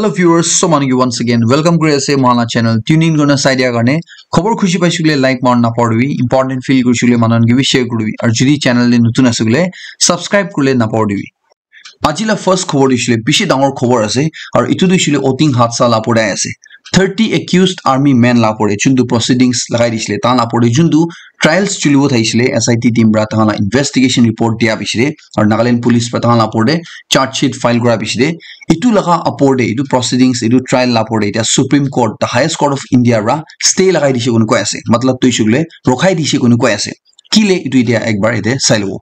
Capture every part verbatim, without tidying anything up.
Hello viewers, so manu ki once again welcome kuri ase mohan la channel. Tune in kurina sai dia karne khobor khushi paishe koile like marna napahoribi, important feel kurishe koile manu khan ke bi share kuribi, aru jodi channel te notun ase koile subscribe kuribole napahoribi. Aji la first khobor tu hoishe koile bishi dangor khobor ase, aru etu tu hoishe koile Oting Hatsa la opor te ase. Thirty accused army men la opor te juntu proceedings lagai dishe koile, tahan la opor te juntu trials chulibo thakishe koile, S I T team para tahan la investigation report dia piche te, aru Nagaland police para tahan la opor te charge sheet file kura piche te, etu laga opor te, etu proceedings, etu trial la opor te etia Supreme Court, the highest court of India para stay lagai dishe koina koi ase. Matlab tu hoishe koile rokhai dishe koina koi ase. Kile etu etia ekbar ete sai lobo.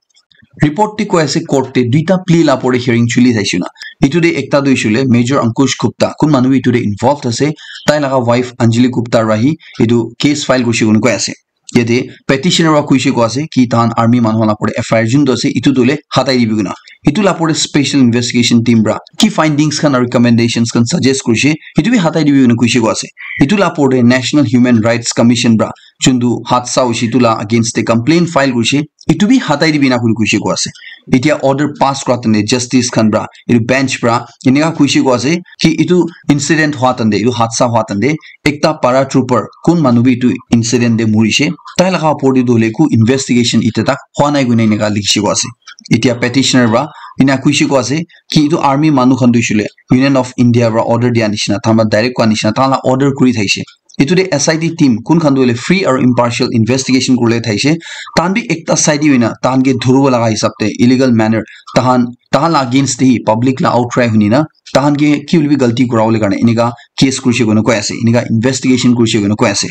Report te koi ase court te duita plea la opor te hearing chuli thaishe na. Etu te ekta tu hoishe koile Major Ankush Gupta, kun manu bi etu te involved ase, tai laga wife Anjali Gupta para hi etu case file kurishe koina koi ase. Yate petitioner para koishe koi ase ki tahan army manu khan la opor te F I R juntu ase etu tu hoile hatai dibi koina. Etu la opor te special investigation team para ki findings khan aru recommendations khan suggest kurishe, etu bi hatai dibi koina koishe koi ase. Etu la opor te National Human Rights Commission para juntu hatsa hoishe etu la against te complaint file kurishe, etu bi hatai dibi na kuri koishe koi ase. Etia order pass kura tante justice khan para, etu bench para enika koishe koi ase ki etu incident hua tante, etu hatsa hua tante ekta paratrooper kun manu bi etu incident te murishe, tai laga opor te tu hoile eku investigation etia tak hua nai koina enika likhishe koi ase. Etia petitioner para ena koishe koi ase ki etu army manu khan tu hoishe koile Union of India para order dia nishina, tahan para direct koa nishina, tahan la order kuri thaishe. Etu te S I T team kun khan tu hoile free aru impartial investigation kuribole thaishe. Tahan bi ekta side te hoina tahan ke dhuribo laga hisab te illegal manner tahan, tahan la against te hi public la outcry huni na tahan ke ki hoile bi galti kurabole karne enika case kurishe koina koi ase, enika investigation kurishe koina koi ase.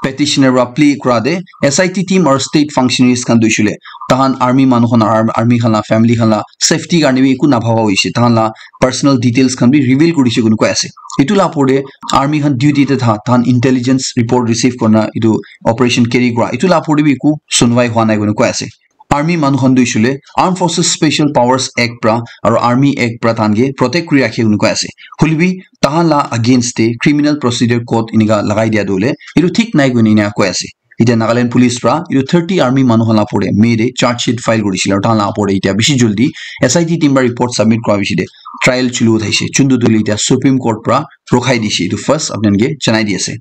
Petitioner para plea kura te S I T team aru state functionaries khan tu hoishe koile tahan army manu khan, ar-, army khan la family khan la safety karne bi eku nabhaba hoishe, tahan la personal details khan bi reveal kurishe koina koi ase. Etu la opor te army khan duty te tha, tahan intelligence report receive kurina etu operation carry kura, etu la opor te bi eku sunwai hua nai koina koi ase. Army manu khan tu hoishe koile Armed Forces Special Powers Act para aru Army Act para tahan ke protect kuri rakhe koina koi ase. Hoile bi tahan la against te Criminal Procedure Code enika lagai dia tu hoile etu thik nai koina enika koi ase. Etia Nagaland police para etu thirty army manu khan la opor te May te charge sheet file kurishe koile aru tahan la opor te etia bishi jaldi S I T team para report submit kura piche te trial chulu thaishe, juntu tu hoile etia Supreme Court para rokhai dishe. Etu first apni khan ke janai di ase.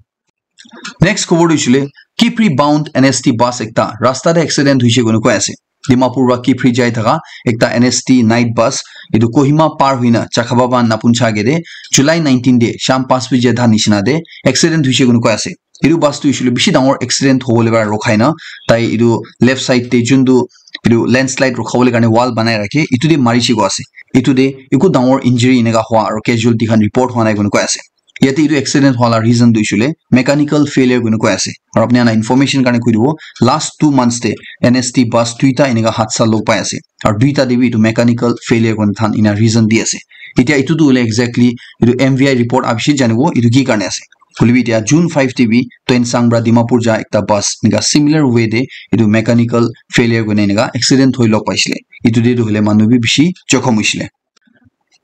Next khobor tu hoishe koile Kiphire bound N S T bus ekta rasta te accident hoishe koina koi ase. Dimapur para Kiphire jai thaka ekta N S T night bus etu Kohima par hoina Chakhababa napuncha ke te July nineteen te sham panch baje dha nishina te accident hoishe koina koi ase. Etu bus tu hoishe koile bishi dangor accident hobole para rokhai na tai etu left side te juntu etu landslide rukhabole karne wall banai rakhe, etu te marishe koi ase. Etu te eku dangor injury enika hua aru casualty khan report hua nai koina koi ase. Yate etu accident hua la reason tu hoishe koile mechanical failure koina koi ase. Aru apni khan la information karne koi dibo, last two months te N S T bus duita enika hatsa log pai ase. Aru duita te bi etu mechanical failure koina tahan ena reason di ase. Etia etu tu hoile exactly etu M V I report aha piche janibo etu ki karne ase. Hoile bi etia June five te bi Tuensang para Dimapur ja ekta bus enika similar way te etu mechanical failure koina enika accident hoi log paishe koile. Etu te tu hoile manu bi bishi jokhom hoishe koile.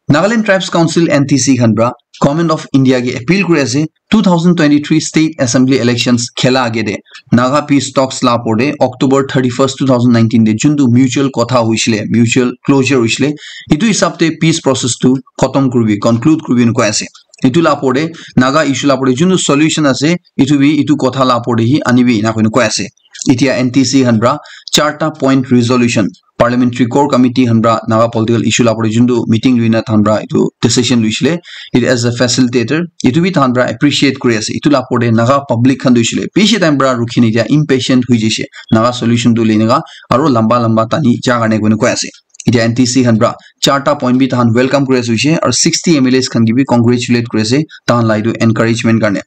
Nagaland Tribes Council, N T C khan para Government of India ke appeal kuri ase, two thousand twenty-three state assembly elections khela age te Naga peace talks la opor te October thirty-first, two thousand nineteen te juntu mutual kotha hoishe koile, mutual closure hoishe koile, etu hisab te peace process tu khatam kuribi, conclude kuribi enika koi ase. Etu la opor te Naga issue la opor te juntu solution ase, etu bi etu kotha la opor te hi anibi enika koina koi ase. Etia N T C khan para charta point resolution Parliamentary Core Committee khan para Naga political issue la opor te juntu meeting loina tahan para etu decision loishe koile, it as a facilitator, etu bi tahan para appreciate kuri ase. Etu la opor te Naga public khan tu hoishe koile bishi time para rukhi na etia impatient hoi jaishe, Naga solution tu lene ka aru lamba lamba tani ja karne koina koi ase. Etia N T C khan para charta point bi tahan welcome kuri ase hoishe aru sixty M L As khan ke bi congratulate kuri ase tahan la etu encouragement karne.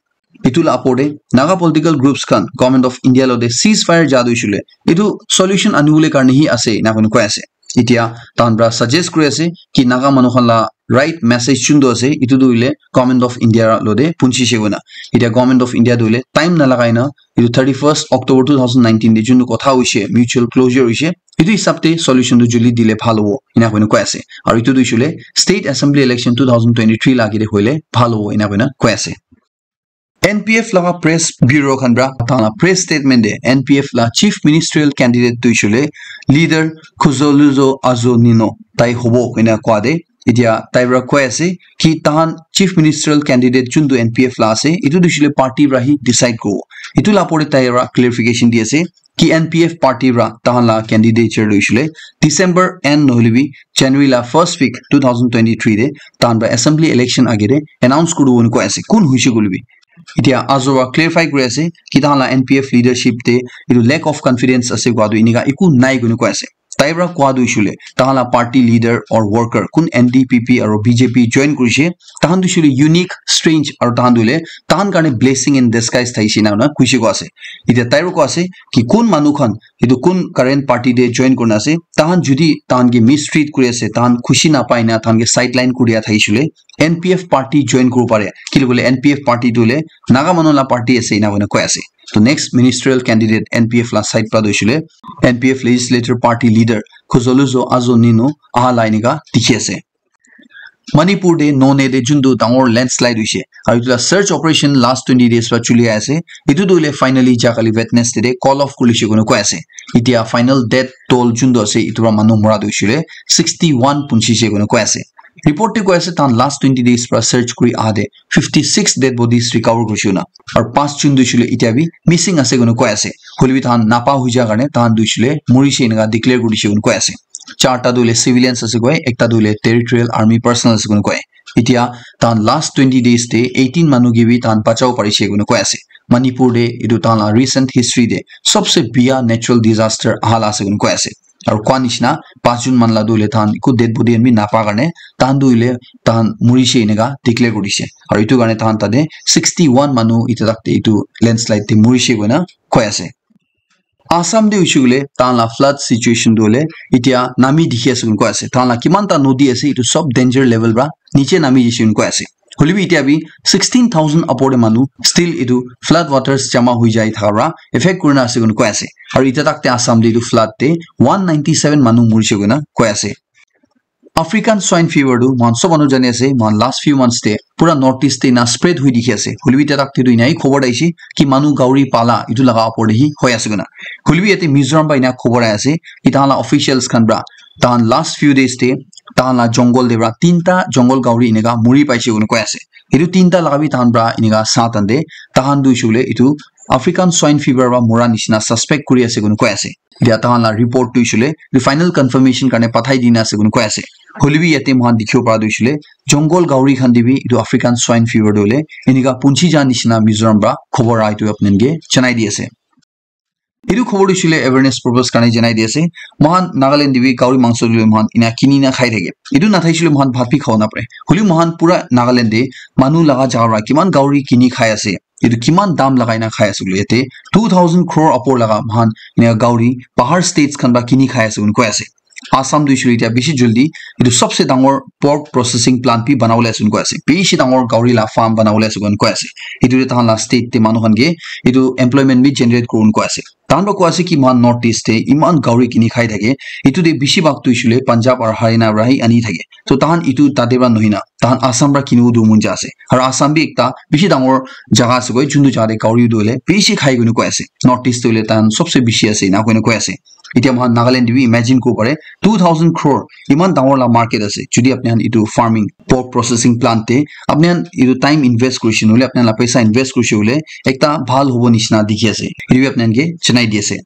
Etu la opor te Naga political groups khan Government of India logote ceasefire ja tu hoishe koile etu solution anibole karne hi ase enika koina koi ase. Etia tahan para suggest kuri ase ki Naga manu khan la right message juntu ase etu tu hoile Government of India logote punchise koina. Etia Government of India tu hoile time nalagai na etu thirty-first October two thousand nineteen te juntu kotha hoishe, mutual closure hoishe, etu hisab te solution tu joldi dile bhal hobo enika koina koi ase. Aru etu tu hoishe koile state assembly election two thousand twenty-three la age te hoile bhal hobo enika koina koi ase. N P F laga press bureau khan para tahan la press statement te N P F la chief ministerial candidate tu hoishe koile leader Khuzoluzo Azo Nino tai hobo koina koa te Etia tai para koi ase ki tahan chief ministerial candidate juntu N P F la ase, etu tu hoishe le party para hi decide kuribo. Etu la opor te tai para clarification di ase ki N P F party para tahan la candidature tu hoishe le December end nohole bi January la first week two thousand twenty-three te tahan para assembly election age te announce kuribo koi ase, kun hoishe koile bi. Etia ajo para clarify kuri ase ki tahan la N P F leadership te etu lack of confidence ase koa tu enika eku nai koina koi ase. Tai para koa tu hoishe le tahan la party leader or worker kun N D P P aru B J P join kurishe, tahan tu hoishe le unique, strange aru tahan tu hoile tahan karne blessing in disguise thaishe ena koina koishe koa ase. Etia tai para koa ase ki kun manu khan, etu kun current party te join kurina ase, tahan jodi tahan ke mistreat kuri ase, tahan khushi napai na tahan ke sideline kuri dia thaishe le N P F party join kuribo pare. Kile koile N P F party tu hoile Naga manu la party ase ena koina koi ase. To next ministerial candidate N P F la side para tu hoishe le N P F legislature party leader Khuzoledzo Azo Nino aha la enika dikhi ase. Manipur te Noney te juntu dangor landslide hoishe aru etu la search operation last twenty days para chuli ase. Etu tu hoile finally ja kali Wednesday te call off kurishe koina koi ase. Etia final death toll juntu ase etu para manu mora tu hoishe le sixty one punchishe koina koi ase. Report te koi ase tahan last twenty days para search kuri aha te fifty six dead bodies recover kurishe koina aru panch jun tu hoishe le etia bi missing ase koina koi ase. Hoile bi tahan napa hoi ja karne tahan tu hoishe le murishe enika declare kurishe koina koi ase. Charta tu hoile civilians ase koi, ekta tu hoile territorial army personnel ase koina koi. Etia tahan last twenty days te eighteen manu ke bi tahan bachabo parishe koina koi ase. Manipur te etu tahan la recent history te sobse biya natural disaster aha la ase koina koi ase. Aru koa nishina panch jun manu la tu hoile tahan eku dead body khan bi napa karne tahan tu hoile tahan murishe enika declare kurishe. Aru etu karne tahan tate sixty one manu etia tak te etu landslide te murishe koina koi ase. Assam te hoishe koile tahan la flood situation tu hoile etia nami dikhi ase koina koi ase. Tahan la kiman ta nodi ase etu sob danger level para niche nami dise koina koi ase. Hoile bi etia bi sixteen thousand upor te manu still etu flood waters jama hoi jai thaka para effect kurina ase koina koi ase. Aru etia tak te Assam te etu flood te one ninety seven manu murishe koina koi ase. African swine fever tu moikhan sob manu jani ase, moikhan last few months te pura North East te ena spread hui dikhi ase. Hoilebi etia tak te tu ena hi khobor ahishe ki manu gauri pala etu laga opor te hi hoi ase koina. Hoilebi yate Mizoram para ena khobor ahi ase ki tahan la officials khan para tahan last few days te tahan la jungle te para tinta jungle gauri eneka muri paishe koina koi ase. Etu tinta laga bi tahan para eneka sa tan te tahan tu hoishe koile etu African swine fever para mura nishina suspect kuri ase koina koi ase. Etia tahan la report tu hoishe koile etu final confirmation karne pathai dina ase koina koi ase. Hoilebi yate moikhan dikhibo para tu hoishe koile jungle gauri khan te bi etu African swine fever tu hoile eneka punchi ja nishina Mizoram para khobor ahi tu apni khan ke janai di ase. Etu khobor tu hoishe koile awareness purpose karne janai di ase. Moikhan Nagaland te bi gauri mangso tu hoile moikhan ena kini na khai thake. Etu nathaishe koile moikhan bhat bi khabo napare. Hoilebi moikhan pura Nagaland te manu laga jaga para kiman gauri kini khai ase. Etu kiman dam lagai na khai ase koile yate two thousand crore upor laga moikhan ena gauri bahar states khan para kini khai ase koina koi ase. Assam tu hoishe koile etia bishi jaldi etu sobse dangor pork processing plant bi banabole ase koina koi ase. Bishi dangor gauri la farm banabole ase koina koi ase. Etu te tahan la state te manu khan ke etu employment bi generate kuribo koina koi ase. Tahan para koi ase ki moikhan North East te eman gauri kini khai thake. Etu te bishi bhag tu hoishe koile Punjab aru Haryana para hi ani thake. So tahan etu tate para nohoi na tahan Assam para kinibo tu mon ja ase. Aru Assam bi ekta bishi dangor jaga ase koi, juntu jaga te gauri tu hoile bishi khai koina koi ase. North East tu hoile tahan sobse bishi ase ena koina koi ase. Etia moikhan Nagaland te bi imagine kuribo pare, two thousand crore eman dangor la market ase. Jodi apni khan etu farming, pork processing plant te apni khan etu time invest kurishe, nohole apni khan la paisa invest kurishe koile ekta bhal hobo nishina dikhi ase. Etu bi apni khan ke janai di ase.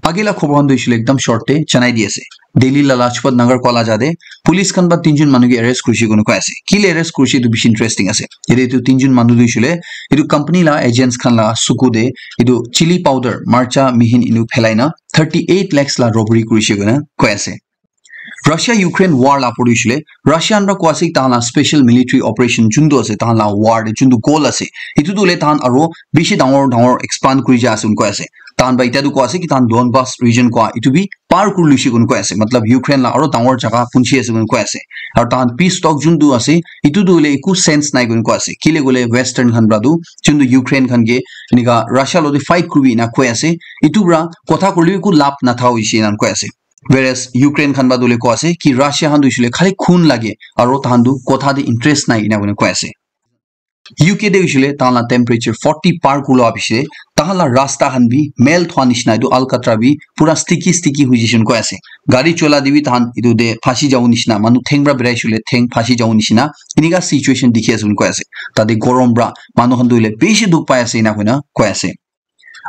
Age la khobor khan tu hoishe koile ekdam short te janai di ase. Delhi la Lajpat Nagar koa la jaga te police khan para tinjon manu ke arrest kurishe koina koi ase. Kile arrest kurishe etu bishi interesting ase. Yate etu tinjon manu tu hoishe koile etu company la agents khan la suku te etu chili powder, marcha, mihin enu phelai na thirty eight lakhs la robbery kurishe koina koi ase. Russia Ukraine war la opor te hoishe koile Russia khan para koi ase tahan la special military operation juntu ase, tahan la war te juntu goal ase, etu tu hoile tahan aro bishi dangor dangor expand kuri ja ase koina koi ase. Tahan para etia tu koi ase ki tahan Donbas region koa etu bi par kuri loishe koina koi ase, matlab Ukraine la aro dangor jaga punchi ase koina koi ase. Aru tahan peace talk juntu ase etu tu hoile eku sense nai koina koi ase, kile koile Western khan para tu juntu Ukraine khan ke enika Russia loti fight kuribi ena koi ase, etu para kotha korile eku lab natha hoishe ena koi ase. Whereas Ukraine khan para tu hoile koi ase ki Russia khan tu hoishe koile khali khun lage aro tahan tu kotha te interest nai ena koina koi ase. U K te hoishe le tahan la temperature forty par kula hoishe le tahan la rasta khan bi mel thwa nishina etu alkatra bi pura sticky sticky hoi jishe koi ase. Gari chola te bi tahan etu te phasi jabo nishina, manu theng pra berai shule theng phasi jabo nishina, enika situation dikhi ase koi ase. Tate gorom pra manu khan tu hoile bishi dukh pai ase ena koina koi ase.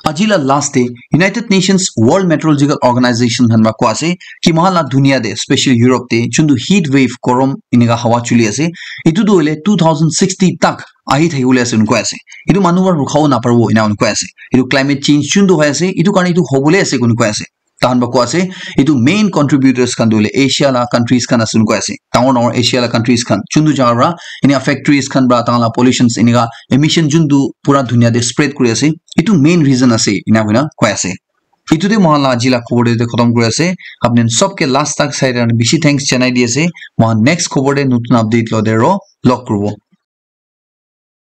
Aji la last te United Nations World Meteorological Organization khan pra koi ase ki mohan la dunia te special Europe te juntu heat wave gorom enika hawa chuli ase, etu tu hoile two thousand sixty tak ahi thaki bole ase koi ase. Etu manu para rukha bo naparibo ena koi ase. Etu climate change juntu hoi ase etu karne etu hobole ase koi ase. Tahan pra koi ase etu main contributors khan tu hoile Asia la countries khan ase koi ase. Dangor dangor Asia la countries khan juntu jaga pra enia factories khan pra tahan la pollutions enika emission juntu pura dunia te spread kuri ase, etu main reason ase ena koina koi ase. Etu te mohan la aji la khobor te khatam kuri ase. Apni khan sob ke last tak sai kena bishi thanks janai di ase. Mohan next khobor te notun update lo te ro log kuribo.